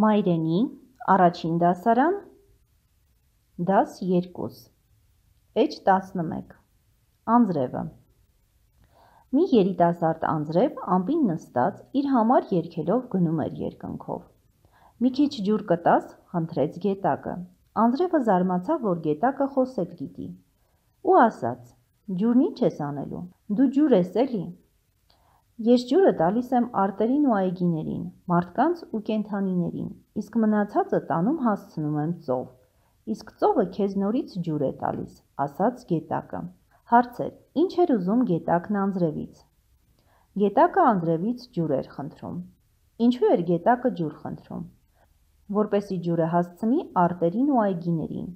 Մայրենի, առաջին դասարան, դաս 2, էջ 11, անձրևը։ Մի երիտասարդ անձրև ամպին նստած իր համար երգելով գնում էր երկնքով։ Մի քիչ ջուր կտաս, խնդրեց գետակը։ Անձրևը զարմացավ, որ գետակը խոսել գիտի, ու ասաց. ջուրն ինչ ես անելու, դու ջուր ես էլի։ Ես ջուրը տալիս եմ արտերին ու այգիներին, մարդկանց ու կենդանիներին, իսկ մնացածը տանում հասցնում եմ ծով, իսկ ծովը քեզ նորից ջուր է տալիս, ասաց գետակը։ Հարցեր. ինչ էր ուզում գետակն անձրևից։ Գետակը անձրևից ջուր էր խնդրում։ Ինչու էր գետակը ջուր խնդրում։ Որպեսզի ջուրը հասցնի արտերին ու այգիներին,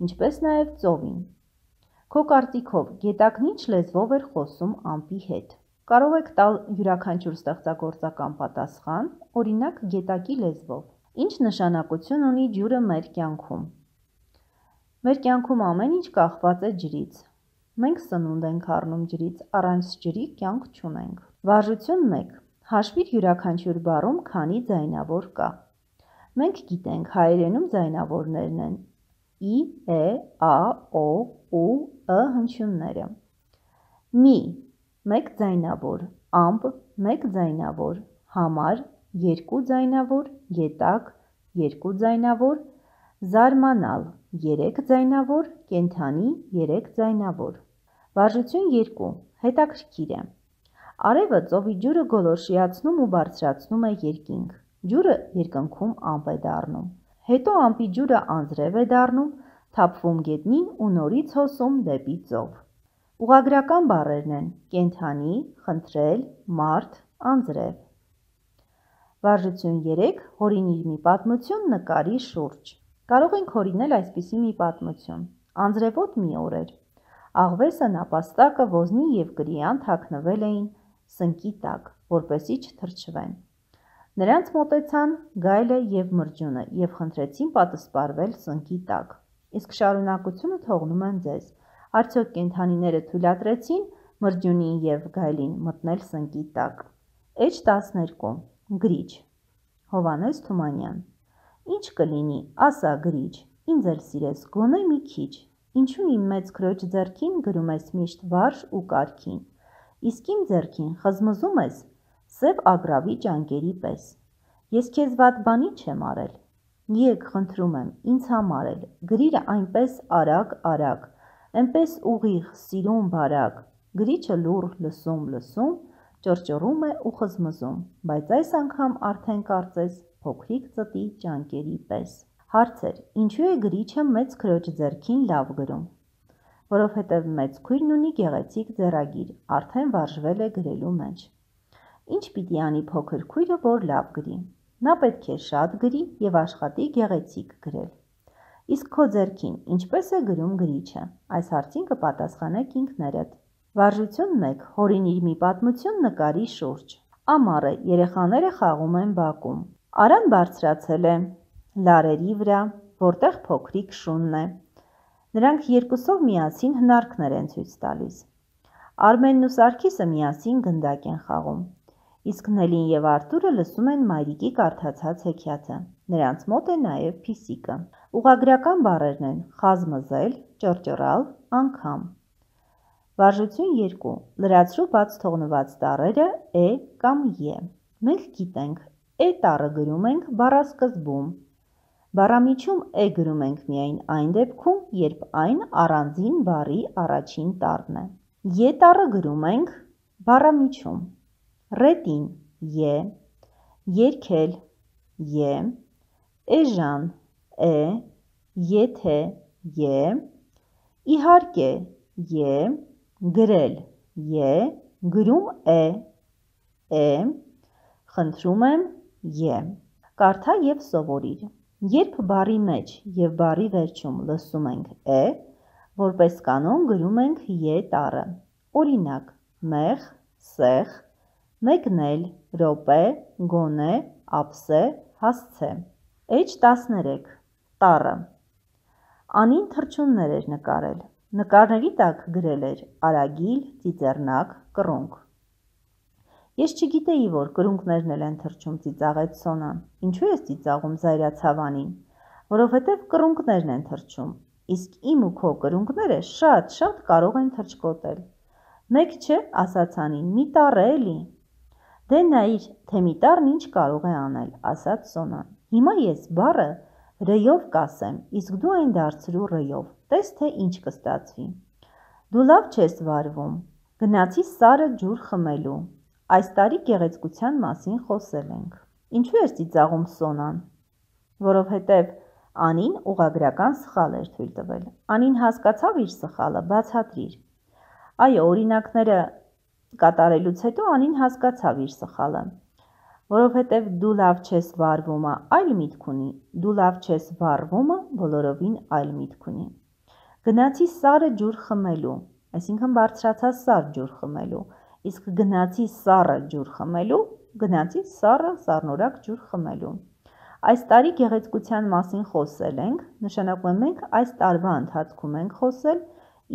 ինչպես նաև ծովին։ Քո կարծիքով գետակն ինչ լեզվով էր խոսում ամպի հետ։ Կարող եք տալ յուրաքանչյուր ստեղծագործական պատասխան, օրինակ գետակի լեզվով։ Ինչ նշանակություն ունի ջուրը մեր կյանքում։ Մեր կյանքում ամեն ինչ կախված է ջրից։ Մենք սնունդ ենք առնում ջրից, առանց ջրի կյանք չունենք։ Վարժություն 1. Հաշվիր յուրաքանչյուր բառում քանի ձայնավոր կա։ Մենք գիտենք հայերենում ձայնավորներն են ի, է, ա, օ, ու, ը հնչյունները։ Մի, 1 ձայնավոր, ամպ, 1 ձայնավոր, համար, 2 ձայնավոր, գետակ, 2 ձայնավոր, զարմանալ, 3 ձայնավոր, կենդանի, 3 ձայնավոր։ Վարժություն 2. Հետաքրքիր է։ Արևը ծովի ջուրը գոլորշիացնում ու բարձրացնում է երկինք։ Ջուրը երկնքում ամպ է դառնում։ Հետո ամպի ջուրը անձրև է դառնում, թափվում գետնին ու նորից հոսում դեպի ծով։ Ուղղագրական բառերն են կենդանի, խնդրել, մարդ, անձրև։ Վարժություն 3. Հորինիր մի պատմություն նկարի շուրջ։ Կարող ենք հորինել այսպիսի մի պատմություն։ Անձրևոտ մի օր էր։ Աղվեսը, նապաստակը, ոզնի և կրիան թաքնվել էին սնկի տակ, որպեսզի չթրջվեն։ Նրանց մոտեցան գայլը և մրջյունը և խնդրեցին պատսպարվել սնկի տակ։ Իսկ շարունակությունը թողնում եմ ձեզ։ Արդյոք կենդանիները թույլատրեցին մրջյունին և գայլին մտնել սնկի տակ։ Էջ 12. Գրիչ։ Հովհաննես Թումանյան։ Ինչ կլինի, ասա գրիչ, ինձ էլ սիրես, գոնե մի քիչ։ Ինչու իմ մեծ քրոջ ձեռքին գրում ես միշտ վարժ ու կարգին, իսկ իմ ձեռքին խզմզում ես սև ագռավի ճանկերի պես։ Ես քեզ վատ բանի չեմ արել։ Եկ, խնդրում եմ, ինձ համար էլ, գրիր այնպես արագ, այնպես ուղիղ, սիրուն, բարակ։ Գրիչը լուռ լսում, ճռճռում է ու խզմզում, բայց այս անգամ արդեն կարծես փոքրիկ ծտի ճանկերի պես։ Հարցեր. ինչու է գրիչը մեծ քրոջ ձեռքին լավ գրում։ Որովհետև մեծ քույրն ունի գեղեցիկ ձեռագիր, արդեն վարժվել է գրելու մեջ։ Ինչ պիտի անի փոքր քույրը, որ լավ գրի։ Նա պետք է շատ գրի և աշխատի գեղեցիկ գրել։ Իսկ քո ձեռքին ինչպես է գրում գրիչը։ Այս հարցին կպատասխանեք ինքներդ։ Վարժություն 1. Հորինիր մի պատմություն նկարի շուրջ։ Ամառ է, երեխաները խաղում են բակում։ Արան բարձրացել է լարերի վրա, որտեղ փոքրիկ շունն է։ Նրանք երկուսով միասին հնարքներ են ցույց տալիս։ Արմենն ու Սարգիսը միասին գնդակ են խաղում։ Իսկ Նելին և Արտուրը լսում են մայրիկի կարդացած հեքիաթը։ Նրանց մոտ է նաև փիսիկը։ Ուղղագրական բառերն են խազմզել, ճռճռալ, անգամ։ Վարժություն 2. Լրացրու բաց թողնված տառերը է կամ է։ Մենք գիտենք, է տառը գրում ենք բառասկզբում։ Բառամիջում է գրում ենք միայն այն դեպքում, երբ այն առանձին բառի առաջին տառն է։ Է տառը գրում ենք բառամիջում։ Ռետին է, երգել է, էժան է, եթե է, իհարկե է, գրել է, գրում է, խնդրում եմ է։ Կարդա և սովորիր։ Երբ բառի մեջ և բառի վերջում լսում ենք է, որպես կանոն գրում ենք է տառը։ Օրինակ՝ մեղ, սեղ, մեկնել, րոպե, գոնե, ափսե, հասցե։ Էջ 13. Տառը։ Անին թռչուններ էր նկարել։ Նկարների տակ գրել էր արագիլ, ծիծեռնակ, կռունկ։ Ես չգիտեի, որ կրունկներն էլ են թռչում, ծիծաղեց Սոնան։ Ինչու ես ծիծաղում, զայրացավ Անին։ Որովհետև կրունկներն են թռչում, իսկ իմ ու քո կրունկները շատ կարող են թռչկոտել։ Մեկ չէ, ասաց Անին, մի տառ է էլի։ Դե նայիր, թե մի տառն ինչ կարող է անել, ասաց Սոնան։ Հիմա ես բառը ռ-ով կասեմ, իսկ դու այն դարձրու ռ-ով, տես թե ինչ կստացվի։ Դու լավ չես վարվում, գնացի Սարը ջուր խմելու, այս տարի գեղեցկության մասին խոսել ենք։ Ինչու ես ծիծաղում, Սոնան։ Որովհետև Անին ուղղագրական սխալ էր թույլ տվել։ Անին հասկացավ իր սխալը, բացատրիր։ Այո, օրինակները կատարելուց հետո Անին հասկացավ իր սխալը։ Որովհետև դու լավ չես վարվումը այլ միտք ունի, դու լավ չես վարվումը բոլորովին այլ միտք ունի։ Գնացի Սարը ջուր խմելու, այսինքն բարձրացա Սար ջուր խմելու, իսկ գնացի Սառը ջուր խմելու, գնացի Սառը սառնորակ ջուր խմելու։ Այս տարի գեղեցկության մասին խոսել ենք, նշանակում է մենք այս տարվա ընթացքում ենք խոսել,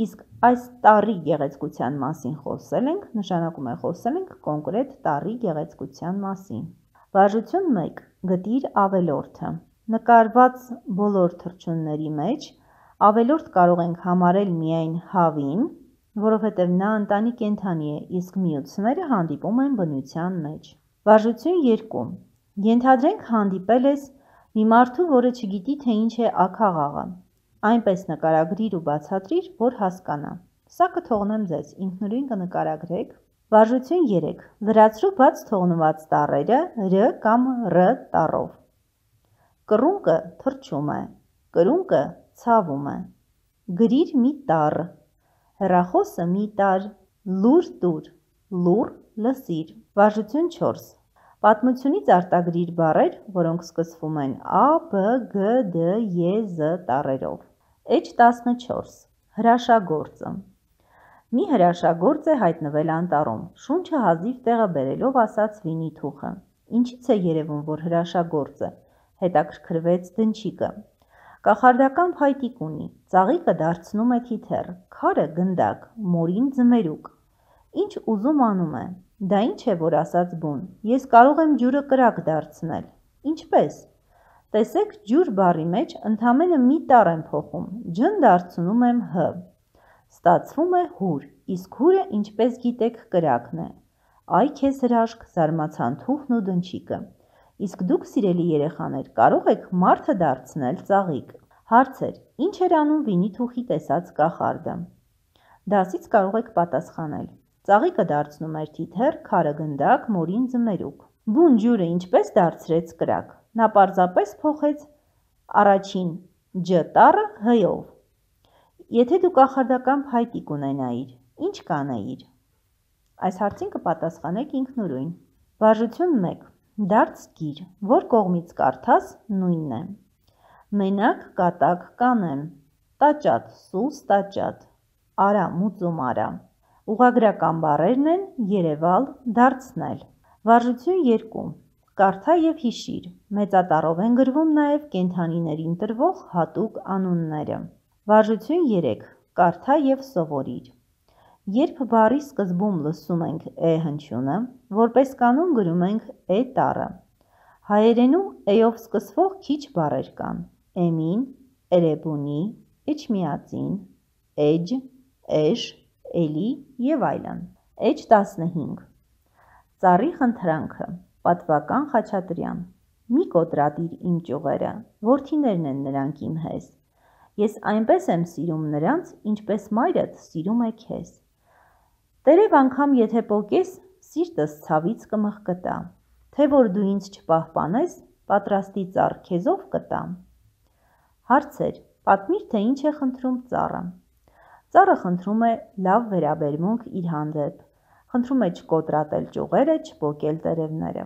իսկ այս տարի գեղեցկության մասին խոսել ենք, նշանակում է խոսել ենք կոնկրետ տարի գեղեցկության մասին։ Վարժություն 1. Գտիր ավելորդը։ Նկարված բոլոր թռչունների մեջ ավելորդ կարող ենք համարել միայն հավին, որովհետև նա ընտանի կենդանի է, իսկ միությունները հանդիպում են բնության մեջ։ Վարժություն 2. Ենթադրենք հանդիպել ես մի մարդու, որը չգիտի, թե ինչ է աքաղաղը։ Այնպես նկարագրիր ու բացատրիր, որ հասկանա։ Սա կթողնեմ ձեզ, ինքնուրույն կնկարագրեք։ Վարժություն 3. Լրացրու բաց թողնված տառերը ր կամ ռ տառով։ Կռունկը թռչում է, կրունկը ցավում է։ Գրիր մի տառ, հեռախոսը մի տար, լուր տուր, լուռ լսիր։ Վարժություն 4. Պատմությունից արտագրիր բառեր, որոնք սկսվում են A, B, G, D, E, Z տառերով։ H14. Հրաշագործը։ Մի հրաշագործ է հայտնվել անտառում, շունչը հազիվ տեղը բերելով ասաց Վինի-Թուխը։ Ինչից է երևում, որ հրաշագործ է, հետաքրքրվեց Դնչիկը։ Կախարդական փայտիկ ունի, ծաղիկը դարձնում է թիթեռ, քարը գնդակ, մորին ձմերուկ։ Ինչ ուզում անում է։ Դա ինչ է, որ ասաց բուն, ես կարող եմ ջուրը կրակ դարձնել։ Ինչպես։ Տեսեք, ջուր բառի մեջ ընդամենը մի տառ եմ փոխում, ջն դարձնում եմ հ։ Ստացվում է հուր, իսկ հուրը, ինչպես գիտեք, կրակն է։ Այ քեզ հրաշք, զարմացան Թուխն ու Դնչիկը։ Իսկ դուք, սիրելի երեխաներ, կարող եք մարդը դարձնել ծաղիկ։ Հարցեր. Ինչ էր անում Վինի-Թուխի տեսած կախարդը։ Դասից կարող եք պատասխանել։ Ծաղիկը դարձնում էր թիթեռ, քարը գնդակ, մորին ձմերուկ։ Բուն ջուրը ինչպես դարձրեց կրակ։ Նա պարզապես փոխեց առաջին ջ տառը հ-ով։ Եթե դու կախարդական փայտիկ ունենայիր, ինչ կանեիր։ Այս հարցին կպատասխանեք ինքնուրույն։ Վարժություն 1. Դարձ գիր, որ կողմից կարդաս նույնն է։ Մենակ կատակ կանեմ, տաճատ, սուս տաճատ, արա մուծում արա։ Ուղղագրական բառերն են երևալ, դարձնել։ Վարժություն 2. Կարդա և հիշիր, մեծատառով են գրվում նաև կենդանիներին տրվող հատուկ անունները։ Վարժություն 3. Կարդա և սովորիր։ Երբ բառի սկզբում լսում ենք է հնչյունը, որպես կանոն գրում ենք է տառը։ Հայերենում է-ով սկսվող քիչ բառեր կան. էմին, էրեբունի, էջմիածին, էջ, էշ, էլի և այլն։ H15. Ծառի խնդրանքը, պատվական Խաչատրյան։ Մի կոտրատիր իմ ճյուղերը, որդիներն են նրանք իմ հեզ։ Ես այնպես եմ սիրում նրանց, ինչպես մայրդ սիրում է քեզ։ Տերև անգամ եթե պոկես, սիրտս ցավից կմղկտա, թե որ դու ինձ չպահպանես, պատրաստի ծառ քեզով կտամ։ Հարցեր. Պատմիր, թե ինչ է խնդրում ծառը։ Ծառը խնդրում է լավ վերաբերմունք իր հանդեպ, խնդրում է չկոտրատել ճյուղերը, չպոկել տերևները։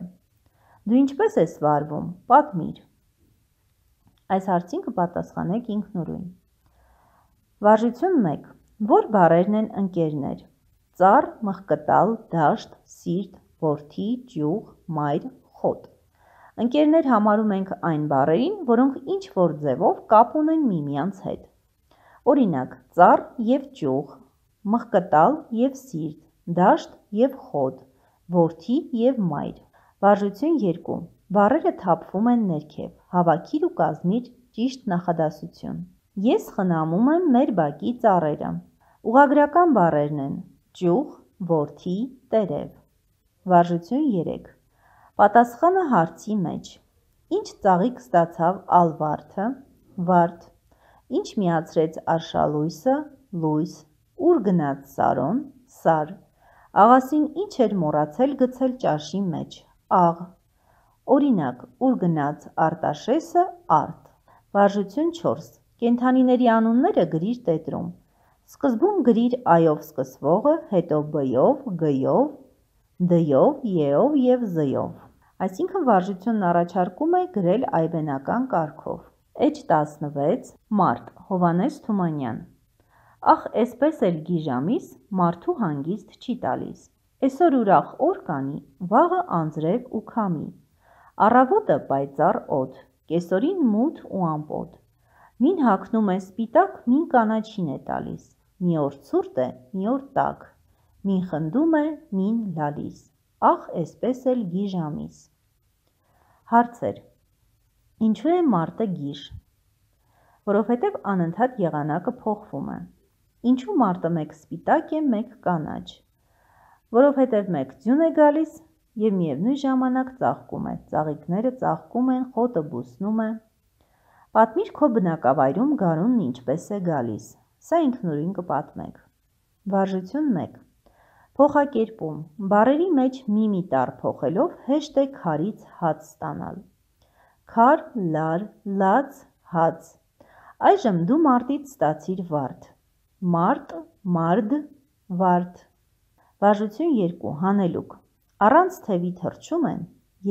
Դու ինչպես ես վարվում, պատմիր։ Այս հարցին կպատասխանեք ինքնուրույն։ Վարժություն 1. Որ բառերն են ընկերներ։ Ծառ, մղկտալ, դաշտ, սիրտ, որդի, ճյուղ, մայր, խոտ։ Ընկերներ համարում ենք այն բառերին, որոնք ինչ-որ ձևով կապ ունեն միմյանց հետ։ Օրինակ, ծառ և ճյուղ, մղկտալ և սիրտ, դաշտ և խոտ, որդի և մայր։ Վարժություն 2. Բառերը թափվում են ներքև, հավաքիր ու կազմիր ճիշտ նախադասություն։ Ես խնամում եմ մեր բակի ծառերը։ Ուղղագրական բառերն են ճյուղ, որդի, տերև։ Վարժություն 3. Պատասխանը հարցի մեջ։ Ինչ ծաղիկ ստացավ ալվարդը, վարդ։ Ինչ միացրեց արշալույսը, լույս։ Ուր գնաց Սարոն, սար։ Աղասին ինչ էր մոռացել գցել ճաշի մեջ, աղ։ Օրինակ, ուր գնաց Արտաշեսը, արդ։ Վարժություն 4. Կենդանիների անունները գրիր տետրում։ Սկզբում գրիր այով սկսվողը, հետո բ-ով, գ-ով, դ-ով, ե-ով և z-ով։ Այսինքն վարժությունն առաջարկում է գրել այբենական կարգով։ H16 մարտ Հովհաննես Թումանյան Ախ, էսպես էլ գիժամիս մարդու հանգիստ չի տալիս։ Էսօր ուրախ օր կանի, վաղը անձրև ու քամի։ Առավոտը պայծառ օդ, կեսօրին մութ ու ամպոտ։ Մին հագնում է սպիտակ, մին կանաչին է տալիս։ Մի օր ցուրտ է, մի օր տաք։ Մին խնդում է, մին լալիս։ Ախ, էսպես էլ գիժամիս։ Հարցեր. Ինչու է մարտը գիժ։ Որովհետև անընդհատ եղանակը փոխվում է։ Ինչու մարտը մեկ սպիտակ է, մեկ կանաչ։ Որովհետև մեկ ձյուն է գալիս և միևնույն ժամանակ ծաղկում է, ծաղիկները ծաղկում են, խոտը բուսնում է։ Պատմիր քո բնակավայրում գարունն ինչպես է գալիս։ Սա ինքնուրույն կպատմեք։ Վարժություն 1. Փոխակերպում։ Բառերի մեջ մի տառ փոխելով հեշտ է քարից հաց ստանալ։ Քար, լար, լաց, հաց։ Այժմ դու մարտից ստացիր վարդ։ Մարտ, մարդ, վարդ։ Վարժություն 2. Հանելուկ։ Առանց թևի թռչում են,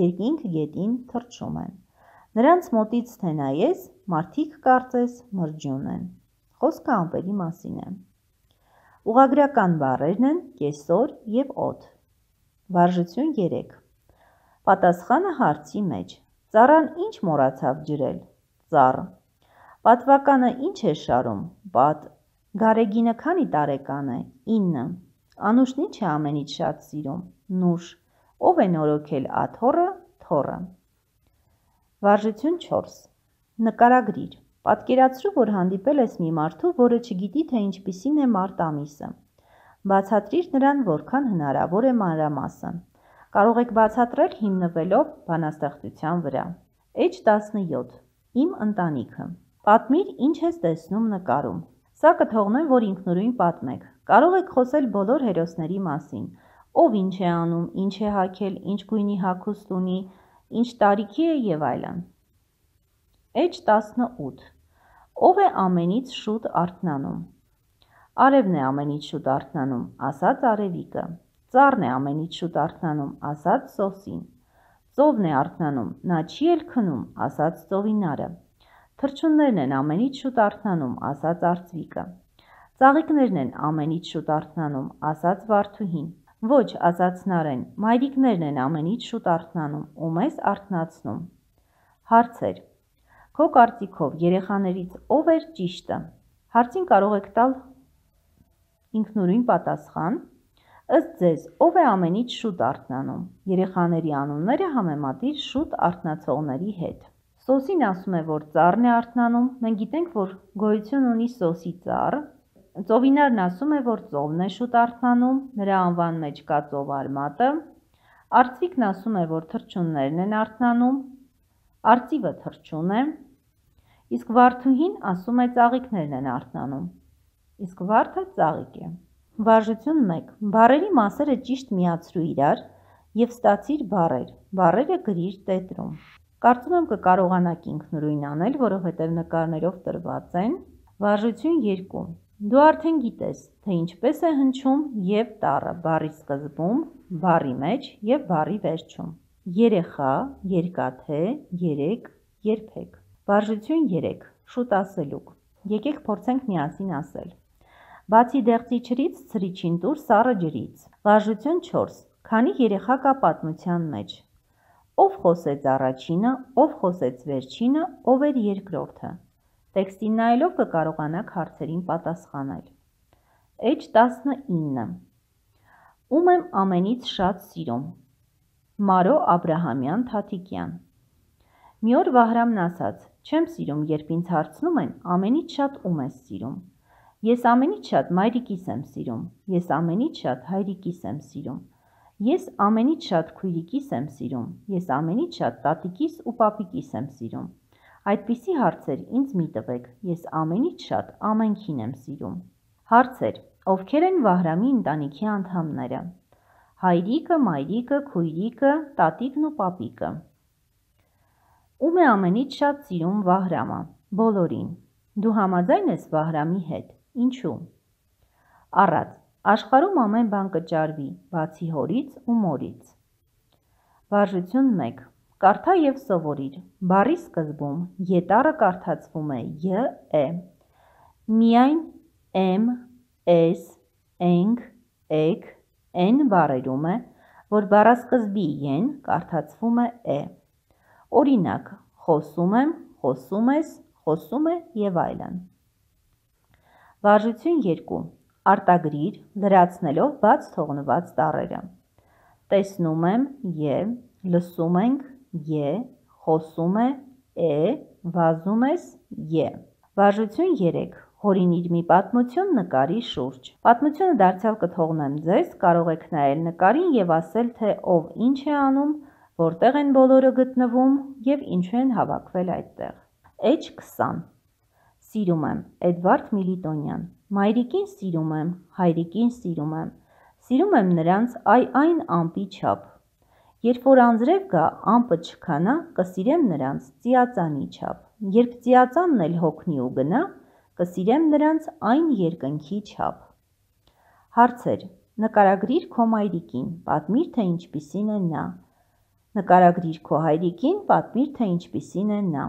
երկինք գետին թռչում են։ Նրանց մոտից թե նայես, մարդիկ կարծես մրջյուն են։ Խոսքը ամպերի մասին է։ Ուղղագրական բառերն են կեսօր և օդ։ Վարժություն 3. Պատասխանը հարցի մեջ։ Ծառան ինչ մոռացավ ջրել, ծառ։ Պատվականը ինչ է շարում, պատ։ Գարեգինը քանի տարեկան է, 9։ Անուշն ինչ է ամենից շատ սիրում, նուշ։ Ով է նորոգել աթոռը, թոռը։ Վարժություն 4. Նկարագրիր։ Պատկերացրու, որ հանդիպել ես մի մարդու, որը չգիտի, թե ինչպիսին է մարտ ամիսը։ Բացատրիր նրան որքան հնարավոր է մանրամասն։ Կարող եք բացատրել հիմնվելով բանաստեղծության վրա։ H17. Իմ ընտանիքը։ Պատմիր, ինչ ես տեսնում նկարում։ Սա կթողնեմ, որ ինքնուրույն պատմեք։ Կարող եք խոսել բոլոր հերոսների մասին։ Ով ինչ է անում, ինչ է հագել, ինչ գույնի հագուստ ունի, ինչ տարիքի է և այլն։ H18. Ով է ամենից շուտ արթնանում։ Արևն է ամենից շուտ արթնանում, ասաց Արևիկը։ Ծառն է ամենից շուտ արթնանում, ասաց Սոսին։ Ծովն է արթնանում, նա չի էլ քնում, ասաց Ծովինարը։ Թռչուններն են ամենից շուտ արթնանում, ասաց Արծվիկը։ Ծաղիկներն են ամենից շուտ արթնանում, ասաց Վարդուհին։ Ոչ, ասաց Նարեն, մայրիկներն են ամենից շուտ արթնանում ու մեզ արթնացնում։ Հարցեր. Քո կարծիքով երեխաներից ով էր ճիշտը։ Հարցին կարող եք տալ ինքնուրույն պատասխան։ Ըստ ձեզ, ով է ամենից շուտ արթնանում։ Երեխաների անունները համեմատիր շուտ արթնացողների հետ։ Սոսին ասում է, որ ծառն է արթնանում, մենք գիտենք, որ գոյություն ունի սոսի ծառ։ Ծովինարն ասում է, որ ծովն է շուտ արթնանում, նրա անվան մեջ կա ծովարմատը։ Արծվիկն ասում է, որ թռչուններն են արթնանում, արծիվը թռչուն է, իսկ Վարդուհին ասում է ծաղիկներն են արթնանում, իսկ վարդը ծաղիկ է։ Վարժություն 1. Բառերի մասերը ճիշտ միացրու իրար և ստացիր բառեր, բառերը գրիր տետրում։ Կարծում եմ կկարողանաք ինքնուրույն անել, որովհետև նկարներով տրված են։ Վարժություն 2. Դու արդեն գիտես, թե ինչպես է հնչում և տառը բառի սկզբում, բառի մեջ և բառի վերջում։ Երեխա, երկաթե, երեք, երբեք։ Վարժություն 3. Շուտ ասելուկ։ Եկեք փորձենք միասին ասել։ Բացի դեղցիչրից ցրիչին տուր սառը ջրից։ Վարժություն 4. Քանի երեխա կա պատմության մեջ։ Ով խոսեց առաջինը, ով խոսեց վերջինը, ով էր երկրորդը։ Տեքստին նայելով կկարողանաք հարցերին պատասխանել։ H19. Ում եմ ամենից շատ սիրում։ Մարո Աբրահամյան Թաթիկյան։ Մի օր Վահրամն ասաց. չեմ սիրում, երբ ինձ հարցնում են ամենից շատ ում ես սիրում։ Ես ամենից շատ մայրիկիս եմ սիրում, ես ամենից շատ հայրիկիս եմ սիրում, ես ամենից շատ քույրիկիս եմ սիրում, ես ամենից շատ տատիկիս ու պապիկիս եմ սիրում։ Այդպիսի հարցեր ինձ մի տվեք, ես ամենից շատ ամենքին եմ սիրում։ Հարցեր. ովքեր են Վահրամի ընտանիքի անդամները։ Հայրիկը, մայրիկը, քույրիկը, տատիկն ու պապիկը։ Ում է ամենից շատ սիրում Վահրամը։ Բոլորին։ Դու համաձայն ես Վահրամի հետ։ Ինչու։ Առած. աշխարհում ամեն բան կճարվի, բացի հորից ու մորից։ Վարժություն 1. Կարդա և սովորիր։ Բառի սկզբում ետառը կարդացվում է ե, միայն եմ, ես, ենք, եք, են բառերում է, որ բառասկզբի են կարդացվում է։ Օրինակ, խոսում եմ, խոսում ես, խոսում է և այլն։ Վարժություն 2. Արտագրիր, լրացնելով բաց թողնված տառերը։ Տեսնում եմ ե, լսում ենք ե, խոսում է, վազում ես ե։ Վարժություն 3. Հորինիր մի պատմություն նկարի շուրջ։ Պատմությունը դարձյալ կթողնեմ ձեզ, կարող եք նայել նկարին և ասել, թե ով ինչ է անում, որտեղ են բոլորը գտնվում և ինչու են հավաքվել այդտեղ։ H20. Սիրում եմ, Էդվարդ Միլիտոնյան։ Մայրիկին սիրում եմ, հայրիկին սիրում եմ։ Սիրում եմ նրանց այն ամպի չափ։ Երբ որ անձրև գա, ամպը չքանա, կսիրեմ նրանց ծիածանի չափ։ Երբ ծիածանն էլ հոգնի ու գնա, կսիրեմ նրանց այն երկնքի չափ։ Հարցեր. նկարագրիր քո մայրիկին, պատմիր, թե ինչպիսին է նա։ Նկարագրիր քո հայրիկին, պատմիր, թե ինչպիսին է նա։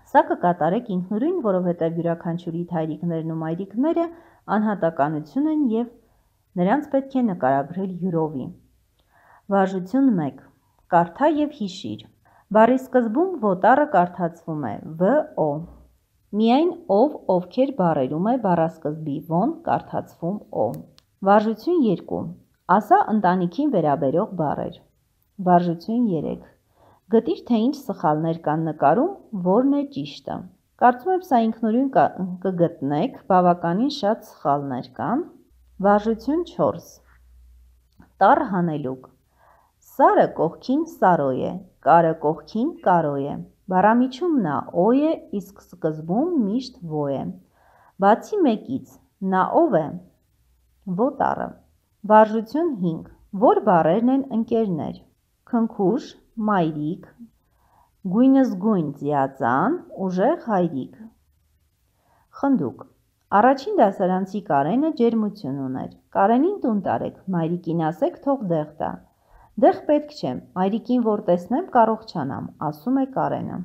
Սա կկատարեք ինքնուրույն, որովհետև յուրաքանչյուրիդ հայրիկներն ու մայրիկները անհատականություն են և նրանց պետք է նկարագրել յուրովի։ Վարժություն 1. Կարդա և հիշիր։ Բառի սկզբում ոտառը կարդացվում է ո։ Միայն ով, ովքեր բառերում է բառասկզբի ո-ն կարդացվում օ։ Վարժություն 2. Ասա ընտանիքին վերաբերող բառեր։ Վարժություն 3. Գտիր, թե ինչ սխալներ կան նկարում, որն է ճիշտը։ Կարծում եմ սա ինքնուրույն կգտնեք, բավականին շատ սխալներ կան։ Վարժություն 4. Տառ հանելուկ։ Սարը կողքին սարո է, կարը կողքին կարո է։ Բառամիջում նա օ է, իսկ սկզբում միշտ ո է։ Բացի մեկից, նա ով է։ Ոտառը։ Վարժություն 5. Որ բառերն են ընկերներ։ Քնքուշ, մայրիկ, գույնզգույն ծիածան, ուժեղ հայրիկ։ Խնդուկ։ Առաջին դասարանցի Կարենը ջերմություն ուներ։ Կարենին տուն տարեք, մայրիկին ասեք թող դեղ տա։ Դեղ պետք չէ, մայրիկին որ տեսնեմ կառողջանամ, ասում է Կարենը։